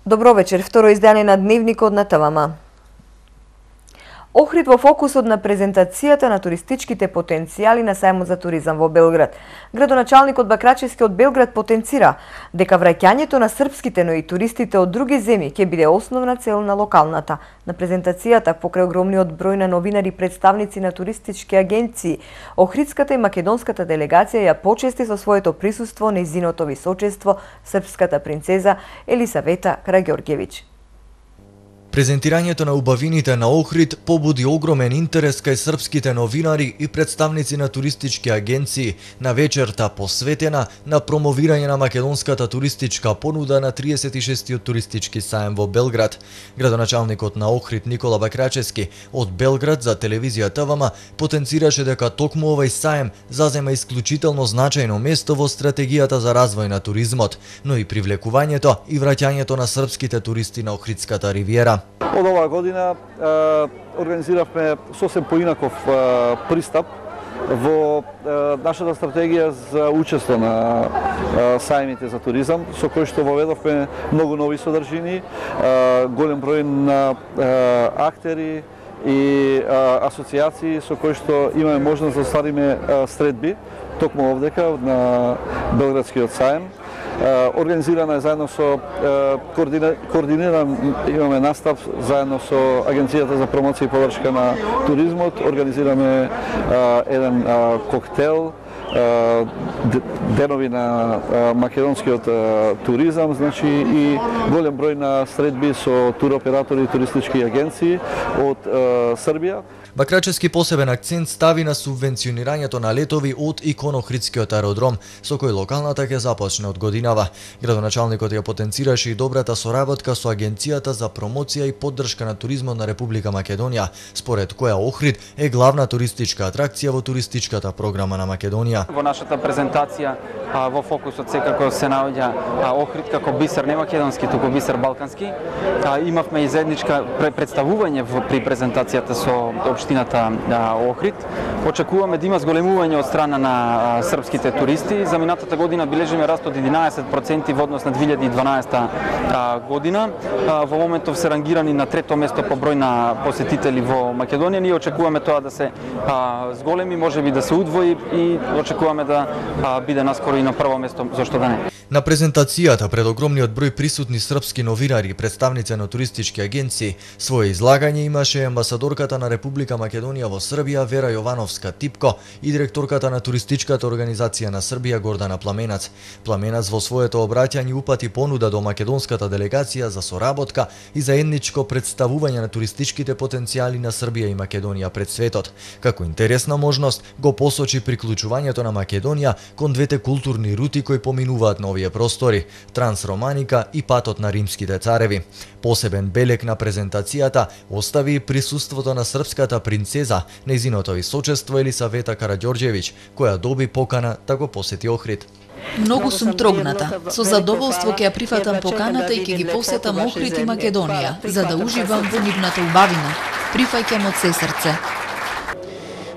Добро вечер, второ издание на Дневникот на ТВМ. Охрид во фокусот на презентацијата на туристичките потенцијали на сајмот за туризам во Белград. Градоначалникот Бакрачевски од Белград потенцира дека враќањето на српските, но и туристите од други земји ќе биде основна цел на локалната. На презентацијата покрај огромниот број на новинари, представници на туристички агенции, охридската и македонската делегација ја почести со своето присуство нејзиното височество српската принцеза Елисавета Караѓорѓевиќ. Презентирањето на убавините на Охрид побуди огромен интерес кај српските новинари и представници на туристички агенции на вечерта посветена на промовирање на македонската туристичка понуда на 36-тиот туристички саем во Белград. Градоначалникот на Охрид Никола Бакрачевски од Белград за телевизија ТВМ потенцираше дека токму овој саем зазема исклучително значајно место во стратегијата за развој на туризмот, но и привлекувањето и враќањето на српските туристи на Охридската ривиера. Од оваа година организиравме сосем поинаков пристап во нашата стратегија за учество на сајмите за туризам, со кој што воведовме многу нови содржини, голем број на актери и асоцијации со кои што имаме можност да оствариме средби токму овдека на Белградскиот саем. Организирана е заедно со координиран имаме настав заедно со Агенцијата за промоција и поддршка на туризмот. Организираме еден коктел, денови на македонскиот туризам, значи и голем број на средби со туроператори и туристички агенции од Србија. Бакрачевски посебен акцент стави на субвенционирањето на летови од Охридскиот аеродром, со кој локалната ќе започне од годинава. Градоначалникот ја потенцираше и добрата соработка со Агенцијата за промоција и поддршка на туризмот на Република Македонија, според која Охрид е главна туристичка атракција во туристичката програма на Македонија. Во нашата презентација во фокусот секако се наоѓа Охрид како бисер не македонски, туку бисер балкански. Имавме и заедничка представување при презентацијата со општината Охрид. Очекуваме да има зголемување од страна на српските туристи. За минатата година бележиме раст од 11% во однос на 2012 година. Во моментов се рангирани на трето место по број на посетители во Македонија. Ние очекуваме тоа да се зголеми, можеби да се удвои и очекуваме да биде наскоро и на прво место, зошто да не. На презентацијата пред огромниот број присутни српски новинари и представници на туристички агенции, свое излагање имаше амбасадорката на Република Македонија во Србија Вера Јовановска-Типко и директорката на туристичката организација на Србија Гордана Пламенац. Пламенац во своето обраќање упати понуда до македонската делегација за соработка и заедничко представување на туристичките потенцијали на Србија и Македонија пред светот. Како интересна можност го посочи приклучувањето на Македонија кон двете културни рути кои поминуваат на овие простори – Трансроманика и патот на римските цареви. Посебен белег на презентацијата остави присуството на српската принцеза, нејзиното височество Елисавета Караѓорѓевиќ, која доби покана да го посети Охрид. Многу сум трогната. Со задоволство ќе ја прифатам поканата и ќе ги посетам Охрид и Македонија, за да уживам во нивната убавина. Прифаќам од се срце.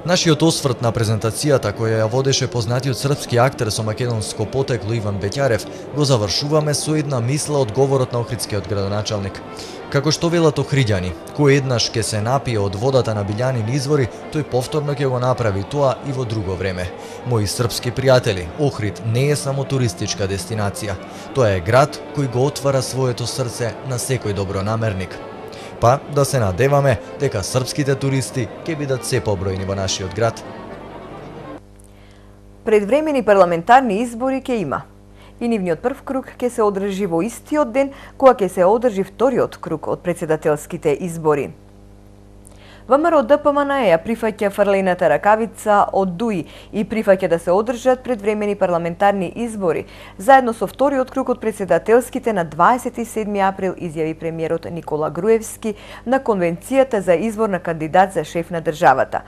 Нашиот осврт на презентацијата, која ја водеше познатиот српски актер со македонско потекло Иван Беќарев, го завршуваме со една мисла од говорот на охридскиот градоначалник. Како што велат охриѓани, кој еднаш ќе се напие од водата на Билјанин извори, тој повторно ќе го направи тоа и во друго време. Мои српски пријатели, Охрид не е само туристичка дестинација. Тоа е град кој го отвара своето срце на секој добронамерник. Па да се надеваме дека српските туристи ќе бидат се побројни во нашиот град. Предвремени парламентарни избори ќе има. И нивниот прв круг ќе се одржи во истиот ден кога ќе се одржи вториот круг од претседателските избори. ВМРО ДПМН ја прифаќа фрлената ракавица од ДУИ и прифаќа да се одржат предвремени парламентарни избори, заедно со вториот круг од претседателските на 27 април, изјави премиерот Никола Груевски на Конвенцијата за избор на кандидат за шеф на државата.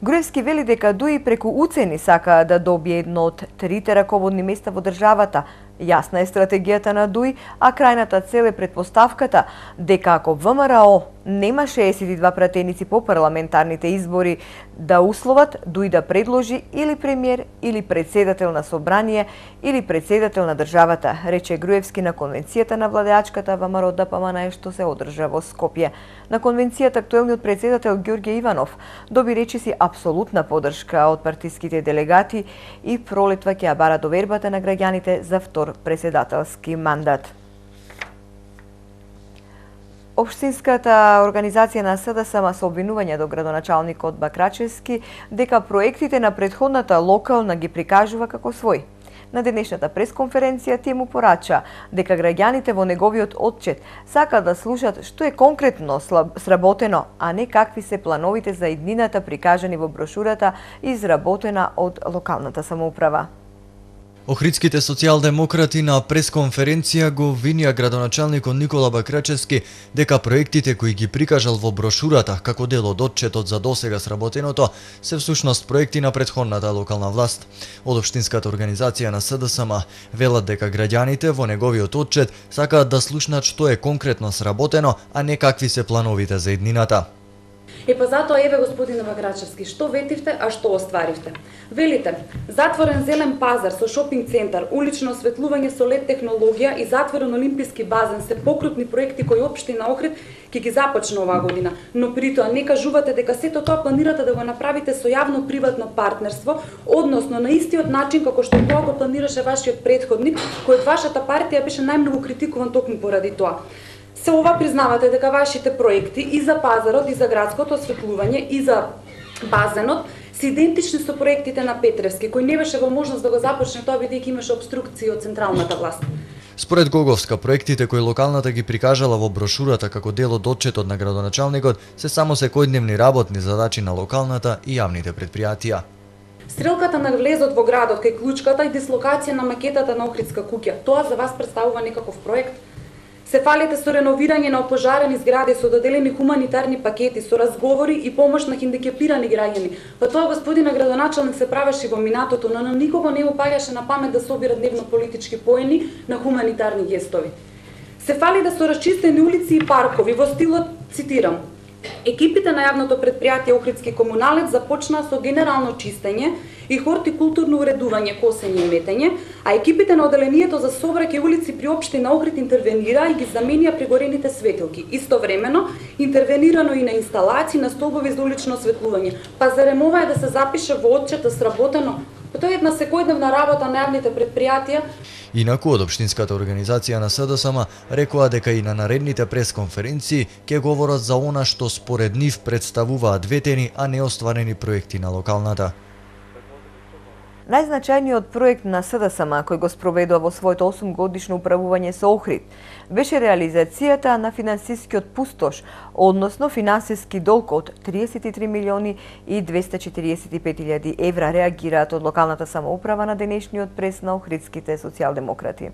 Груевски вели дека ДУИ преку уцени сака да добие едно од трите раководни места во државата, Јасна е стратегијата на ДУИ, а крајната цел е претпоставката дека ако ВМРО нема 62 пратеници по парламентарните избори да условат ДУИ да предложи или премиер, или председател на собрание, или председател на државата, рече Груевски на конвенцијата на владеачката ВМРО ДПМН што се одржа во Скопје. На конвенцијата актуелниот председател Ѓорѓе Иванов доби речиси апсолутна поддршка од партиските делегати и пролетва ќе ја бара довербата на граѓаните за втор председателски мандат. Општинската организација на СДСМ со обвинување до градоначалникот Бакрачевски дека проектите на претходната локална ги прикажува како свој. На денешната пресконференција тие му порача дека граѓаните во неговиот отчет сакаат да слушат што е конкретно сработено, а не какви се плановите за иднината прикажани во брошурата изработена од локалната самоуправа. Охридските социјалдемократи на пресконференција го обвинија градоначалникот Никола Бакрачевски дека проектите кои ги прикажал во брошурата како дел од отчетот за досега сработеното се всушност проекти на претходната локална власт. Од општинската организација на СДСМ велат дека граѓаните во неговиот отчет сакаат да слушнат што е конкретно сработено, а не какви се плановите за иднината. Па затоа еве господине Бакрачевски, што ветивте, а што остваривте? Велите, затворен зелен пазар со шопинг центар, улично осветлување со LED технологија и затворен олимписки базен се покрупни проекти кои општина Охрид ќе ги започне оваа година, но при тоа не кажувате дека сето тоа планирате да го направите со јавно-приватно партнерство, односно на истиот начин како што тоа го планираше вашиот претходник, кој од вашата партија беше најмногу критикуван токму поради тоа. Се ова признавате дека вашите проекти и за пазарот, и за градското осветлување, и за базенот се идентични со проектите на Петревски, кој не беше во можност да го започне тоа бидејќи имаше обструкции од централната власт. Според Гоговска, проектите кои локалната ги прикажала во брошурата како дел од отчетот на градоначалникот се само секојдневни работни задачи на локалната и јавните предпријатија. Стрелката на влезот во градот кај клучката и дислокација на макетата на Охридска куќа, тоа за вас представува некаков проект? Се фалите со реновирање на опожарени згради, со доделени хуманитарни пакети, со разговори и помош на хендикепирани граѓани. Па тоа господина градоначалник се правеше во минатото, но на никого не му паѓаше на памет да собира дневно политички поени на хуманитарни гестови. Се фалите со расчистени улици и паркови во стилот, цитирам, екипите на јавното предпријатие Охридски комуналец започнаа со генерално чистење и хортикултурно уредување, косење и метење, а екипите на оделението за сообраќај улици при општина Охрид интервенира и ги заменија пригорените светилки. Истовремено интервенирано и на инсталации на столбови за улично осветлување. Па зарем ова е да се запише во отчета сработено? Па тоа е една секојдневна работа на јавните предпријатија. Инаку од општинската организација на СДСМ рекоа дека и на наредните пресконференции ќе говорат за она што според нив представуваат ветени, а не остварени проекти на локалната. Најзначајниот проект на СДСМ кој го спроведува во своето 8-годишно управување со Охрид беше реализацијата на финансискиот пустош, односно финансиски долг од 33 милиони и 245 илјади евра, реагираат од локалната самоуправа на денешниот прес на охридските социјалдемократи.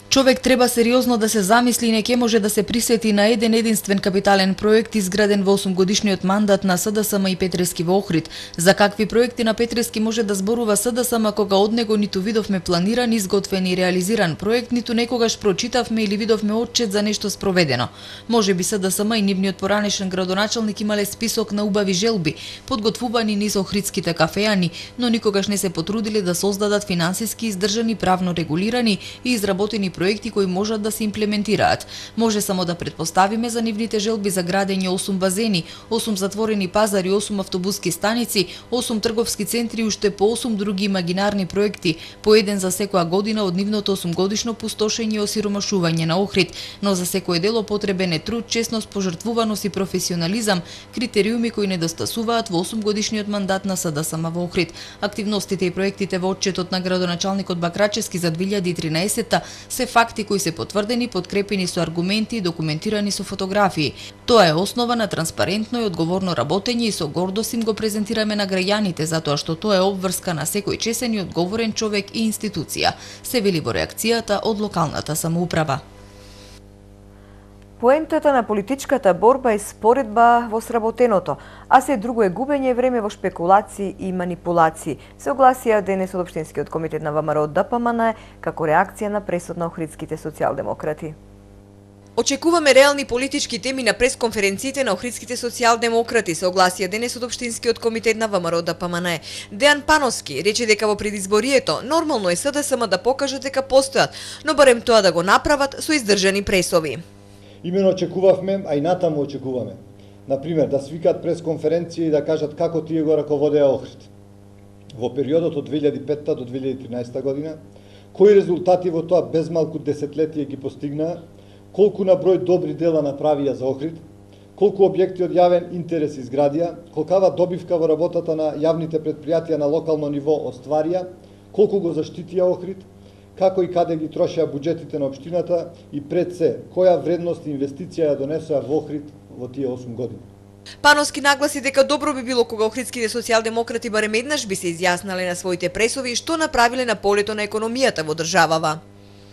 Човек треба сериозно да се замисли и не ќе може да се присети на еден единствен капитален проект изграден во 8-годишниот мандат на СДСМ и Петрески во Охрид. За какви проекти на Петрески може да зборува СДСМ кога од него ниту видовме планиран, изготвен и реализиран проект, ниту некогаш прочитавме или видовме отчет за нешто спроведено. Може би СДСМ и нивниот поранешен градоначалник имале список на убави желби, подготвувани низ охридските кафејани, но никогаш не се потрудиле да создадат финансиски издржани, правно регулирани и изработени проекти кои можат да се имплементираат. Може само да претпоставиме за нивните желби за градење 8 базени, 8 затворени пазари, 8 автобуски станици, 8 трговски центри и уште по 8 други имагинарни проекти, по еден за секоја година од нивното 8-годишно пустошење и осиромашување на Охрид, но за секој дело потребен е труд, честност, пожртвуваност и професионализам, критериуми кои недостасуваат во 8-годишниот мандат на СДСМ во Охрид. Активностите и проектите во отчетот на градоначалникот Бакрачевски за 2013 се факти кои се потврдени, подкрепени со аргументи и документирани со фотографии. Тоа е основа на транспарентно и одговорно работење и со гордост им го презентираме на граѓаните, затоа што тоа е обврска на секој чесен и одговорен човек и институција, се вели во реакцијата од локалната самоуправа. Поентата на политичката борба е споредба во сработеното, а се друго е губење време во шпекулации и манипулации, се огласија денес од Општинскиот комитет на ВМРО ДПМН како реакција на пресуд на охридските социјалдемократи. Очекуваме реални политички теми на пресконференциите на охридските социјалдемократи, се огласија денес од Општинскиот комитет на ВМРО ДПМН. Дејан Пановски рече дека во предизборието нормално е СДСМ да покажат дека постојат, но барем тоа да го направат со издржани пресови. Имено очекувавме, а и натаму очекуваме. Например, да свикат пресконференција и да кажат како тие го раководеа Охрид. Во периодот од 2005 до 2013 година, кои резултати во тоа безмалку десетлетие ги постигнаа, колку на број добри дела направија за Охрид, колку објекти од јавен интерес изградија, колкава добивка во работата на јавните предпријатија на локално ниво остварија, колку го заштитија Охрид, како и каде ги трошеа буџетите на општината и пред се, која вредност и инвестиција ја донесоа во Охрид во тие 8 години. Пановски нагласи дека добро би било кога охридските социјалдемократи барем еднаш би се изјаснале на своите пресови што направиле на полето на економијата во државава.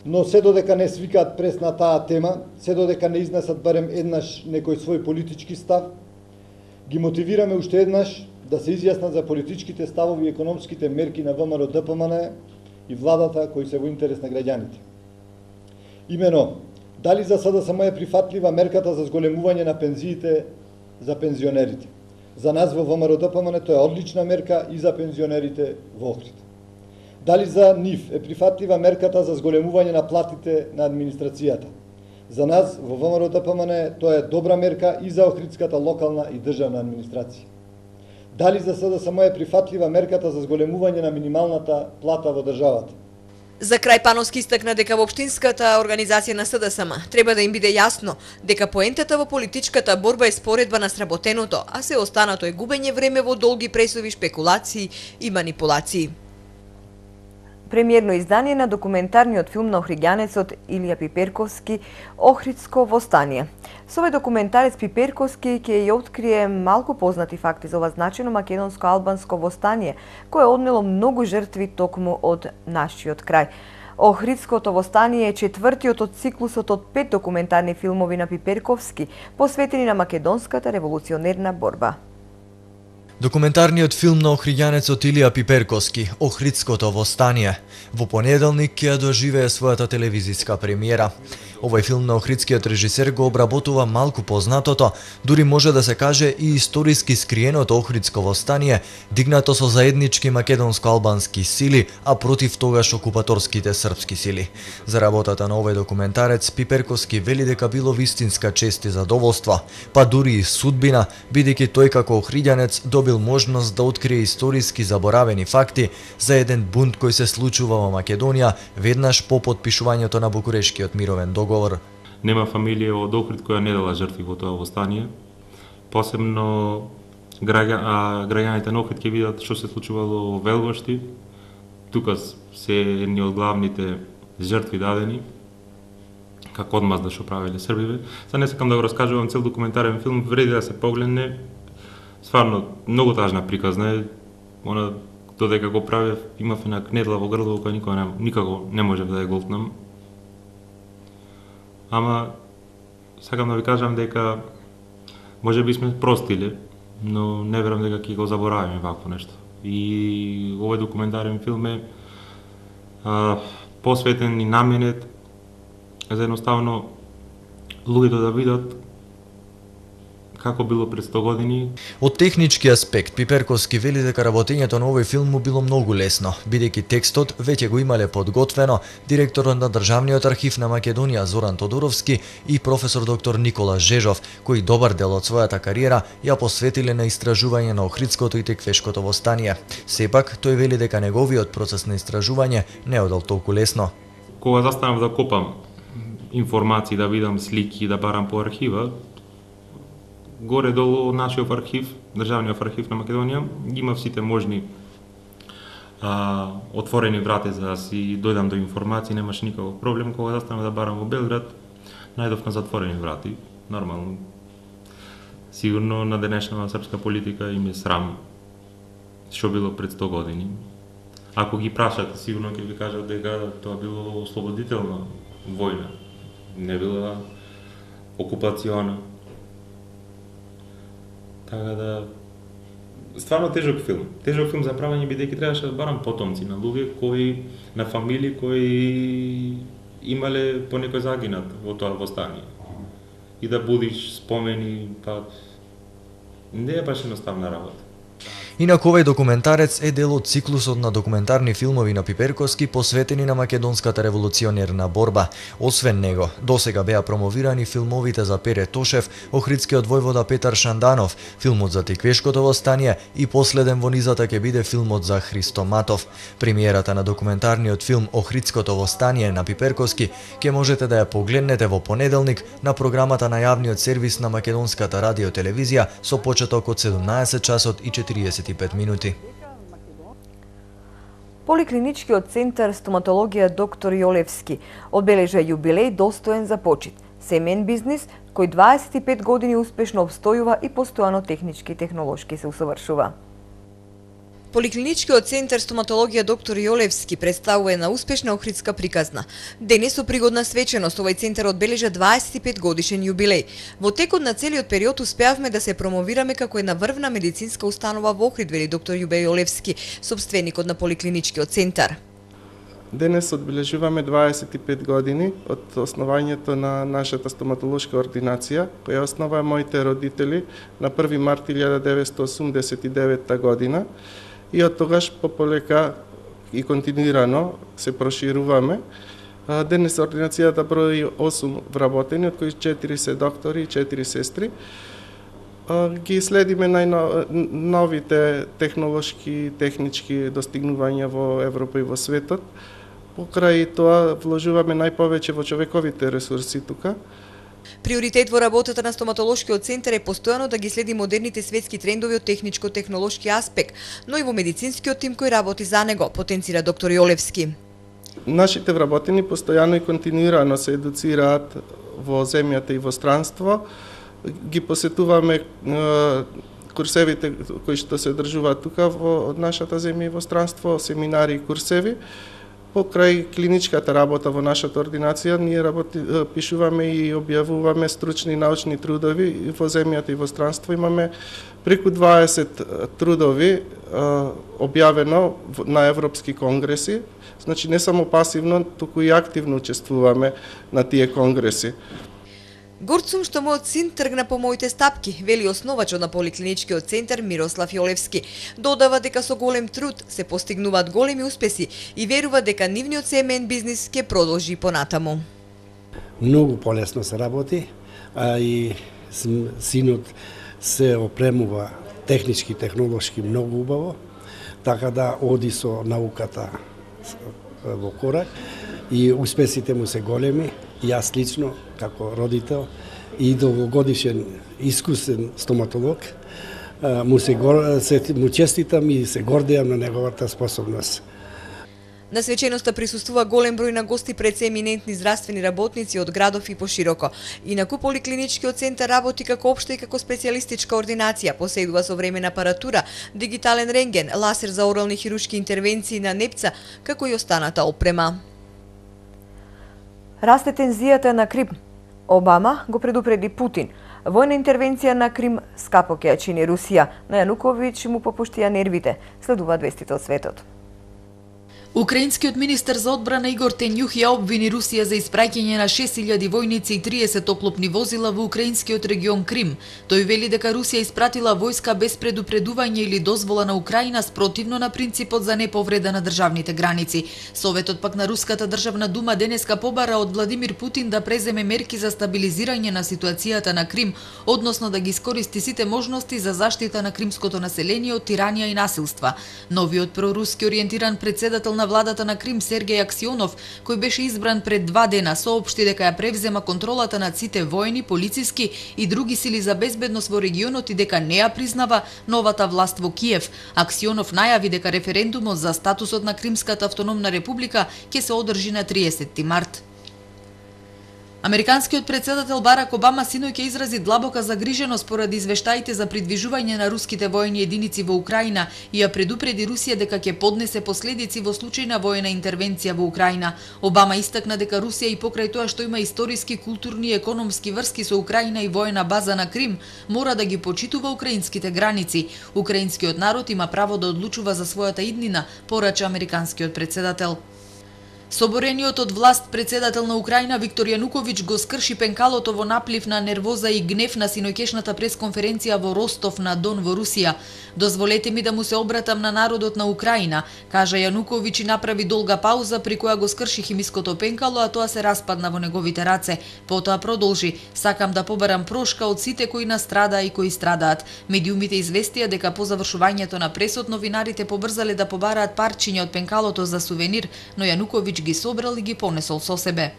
Но се додека не свикаат прес на таа тема, се додека не изнесат барем еднаш некој свој политички став, ги мотивираме уште еднаш да се изјаснат за политичките ставови и економските мерки на ВМРО ДПМН и владата кои се во интерес на граѓаните. Имено, дали за СДСМ е прифатлива мерката за зголемување на пензиите за пензионерите? За нас во ВМРО ДПМН тоа е одлична мерка и за пензионерите во Охрид. Дали за нив е прифатлива мерката за зголемување на платите на администрацијата? За нас во ВМРО ДПМН тоа е добра мерка и за охридската локална и државна администрација. Дали за СДСМ е прифатлива мерката за зголемување на минималната плата во државата? За крај Пановски истакна дека во општинската организација на СДСМ треба да им биде јасно дека поентата во политичката борба е споредба на сработеното, а се останато е губење време во долги пресови, шпекулации и манипулации. Премиерно издание на документарниот филм на охриѓанецот Илија Пиперковски «Охридско востание». Со овој документарец Пиперковски ќе ја открие малку познати факти за ова значено македонско-албанско востание, кое однело многу жртви токму од нашиот крај. Охридското востание е четвртиот од циклусот од 5 документарни филмови на Пиперковски, посветени на македонската револуционерна борба. Документарниот филм на охриѓанецот Илија Пиперковски «Охридското востание» во понеделник ќе доживее својата телевизиска премиера. Овој филм на охридскиот режисер го обработува малку познатото, дури може да се каже и историски скриеното Охридско востание, дигнато со заеднички македонско-албански сили, а против тогаш окупаторските српски сили. За работата на овој документарец Пиперковски вели дека било вистинска чест и задоволство, па дури и судбина, бидејќи тој како охриѓанец добил можност да открие историски заборавени факти за еден бунт кој се случува во Македонија веднаш по потпишувањето на Букурешкиот мировен договор. Нема фамилија од Охрид која не дала жртви во тоа востание. Посебно граѓаните на Охрид ќе видат што се случувало во Велвошти. Тука се едни од главните жртви дадени како одмазда што правеле србиве. Сега не сакам да го раскажувам цел документарен филм, вреди да се погледне. Стварно, многу тажна приказна е. Она додека го правев, имав една кнедла во грло која никако не можев да ја голтнам. Ама, сакам да ви кажам дека може би сме простиле, но не верам дека ќе го заборавиме вакво нешто. И овој документарен филм е посветен и наменет за едноставно луѓето да видат како било пред 100 години. Од технички аспект, Пиперковски вели дека работењето на овој филм му било многу лесно, бидејќи текстот веќе го имале подготвено директорот на Државниот архив на Македонија Зоран Тодоровски и професор доктор Никола Жежов, кои добар дел од својата кариера ја посветиле на истражување на Охридското и Теквешкото востание. Сепак, тој вели дека неговиот процес на истражување не одел толку лесно. Кога застанав да копам информации, да видам слики, да барам по архива, горе-долу од нашиот архив, Државниот архив на Македонија, има сите можни отворени врати за да си дојдам до информации, немаше никаков проблем. Кога застанав да барам во Белград, најдов на затворени врати, нормално. Сигурно на денешната српска политика им е срам што било пред 100 години. Ако ги прашате, сигурно ќе ви кажат дека тоа било ослободителна војна. Не била окупациона. Така да стварно тежок филм. Тежок филм за правење бидејќи требаше да барам потомци на луѓе на фамилии кои имале по некој загинат во тоа востание. И да будиш спомени, па не е баш едноставна работа. Инаку овој документарец е дел од циклусот на документарни филмови на Пиперковски посветени на македонската револуционерна борба. Освен него, досега беа промовирани филмовите за Пере Тошев, охридскиот војвода Петар Шанданов, филмот за Тиквешкото востание и последен во низата ќе биде филмот за Христо Матов. Премиерата на документарниот филм Охридското востание на Пиперковски ќе можете да ја погледнете во понеделник на програмата на јавниот сервис на Македонската радиотелевизија со почеток од 17 часот и 45 минути. Поликлиничкиот центар стоматологија доктор Јолевски одбележа јубилеј достоен за почит. Семен бизнис кој 25 години успешно обстојува и постојано технички и технолошки се усовршува. Поликлиничкиот центар стоматологија доктор Јолевски представува една успешна охридска приказна. Денес со пригодна свеченост овој центар одбележа 25 годишен јубилеј. Во текот на целиот период успеавме да се промовираме како една врвна медицинска установа во Охрид, вели доктор Јубе Јолевски, собственикот на поликлиничкиот центар. Денес одбележуваме 25 години од основањето на нашата стоматолошка ординација, која основаа моите родители на 1 март 1989 година. И од тогаш пополека и континуирано се прошируваме. Денес ординацијата брои 8 вработени, од кои 4 се доктори и 4 сестри. Ги следиме најновите технолошки, технички достигнувања во Европа и во светот. Покрај тоа вложуваме најповеќе во човековите ресурси тука. Приоритет во работата на стоматолошкиот центар е постојано да ги следи модерните светски трендови од техничко-технолошки аспект, но и во медицинскиот тим кој работи за него, потенцира доктор Јолевски. Нашите вработени постојано и континуирано се едуцираат во земјата и во странство. Ги посетуваме курсевите кои што се одржуваат тука во нашата земја и во странство, семинари и курсеви. Покрај клиничката работа во нашата ординација, ние пишуваме и објавуваме стручни научни трудови во земјата и во странство. Имаме преку 20 трудови објавено на европски конгреси. Значи не само пасивно, туку и активно учествуваме на тие конгреси. Горд сум што мојот син тргна по моите стапки, вели основачот на поликлиничкиот центар Мирослав Јолевски. Додава дека со голем труд се постигнуваат големи успеси и верува дека нивниот семеен бизнис ќе продолжи понатаму. Многу полесно се работи, а и синот се опремува технички, технолошки многу убаво, така да оди со науката во корак и успесите му се големи. Јас лично, како родител и долгогодишен искусен стоматолог, му честитам и се гордеам на неговата способност. На свеченоста присуствува голем број на гости, пред се еминентни здравствени работници од градов и пошироко. Инаку поликлиничкиот центар работи како општа и како специјалистичка ординација, поседува современа апаратура, дигитален рентген, ласер за орални хирушки интервенции на непца, како и останата опрема. Расте тензијата на Крим. Обама го предупреди Путин. Војна интервенција на Крим скапо ќе ја чини Русија. На Јануковиќ му попуштија нервите. Следува вестите од светот. Украинскиот министер за одбрана Игор Тенјух ја обвини Русија за испраќање на 6000 војници и 30 оклопни возила во украинскиот регион Крим. Тој вели дека Русија испратила војска без предупредување или дозвола на Украина спротивно на принципот за неповреда на државните граници. Советот пак на Руската државна дума денеска побара од Владимир Путин да преземе мерки за стабилизирање на ситуацијата на Крим, односно да ги искористи сите можности за заштита на кримското население од тиранија и насилства. Новиот проруски ориентиран председател на владата на Крим Сергеј Аксионов, кој беше избран пред 2 дена, соопшти дека ја превзема контролата над сите воени, полициски и други сили за безбедност во регионот и дека не ја признава новата власт во Киев. Аксионов најави дека референдумот за статусот на Кримската автономна република ќе се одржи на 30 март. Американскиот председател Барак Обама синоќа изрази длабока загриженост поради извештаите за придвижување на руските воени единици во Украина и ја предупреди Русија дека ќе поднесе последици во случај на воена интервенција во Украина. Обама истакна дека Русија и покрај тоа што има историски, културни и економски врски со Украина и воена база на Крим, мора да ги почитува украинските граници. Украинскиот народ има право да одлучува за својата иднина, порача американскиот председател. Соборениот од власт председател на Украина Виктор Јануковиќ го скрши пенкалото во наплив на нервоза и гнев на синоќешната пресконференција во Ростов на Дон во Русија. Дозволете ми да му се обратам на народот на Украина, кажа Јануковиќ и направи долга пауза при која го скрши химиското пенкало, а тоа се распадна во неговите раце. Потоа продолжи: сакам да побарам прошка од сите кои настрадаа и кои страдаат. Медиумите известија дека по завршувањето на пресот новинарите побрзале да побараат парчиња од пенкалото за сувенир, но Јануковиќ ги собрал и ги понесол со себе.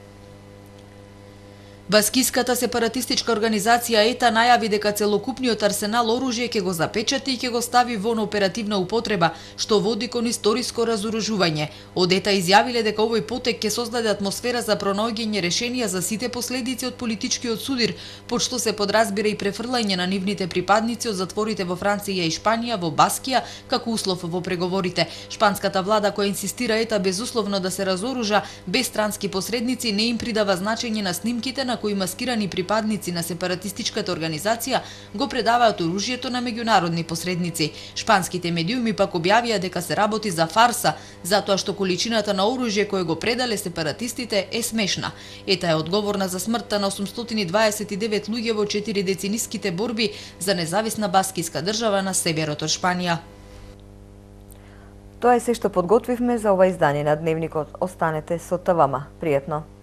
Баскиската сепаратистичка организација ЕТА најави дека целокупниот арсенал оружје ќе го запечати и ќе го стави во оперативна употреба, што води кон историско разоружување. Од ЕТА изјавиле дека овој потек ќе создаде атмосфера за пронаоѓање решенија за сите последици од политичкиот судир, под што се подразбира и префрлање на нивните припадници од затворите во Франција и Шпанија во Баскија како услов во преговорите. Шпанската влада, која инсистира ЕТА безусловно да се разоружа без странски посредници, не им придава значење на снимките на кои маскирани припадници на сепаратистичката организација го предаваат оружјето на меѓународни посредници. Шпанските медиуми пак објавија дека се работи за фарса, затоа што количината на оружје кое го предале сепаратистите е смешна. ЕТА е одговорна за смртта на 829 луѓе во 4-децениските борби за независна баскиска држава на северот од Шпанија. Тоа е се што подготвивме за ова издание на Дневникот. Останете со ТВМ. Пријатно!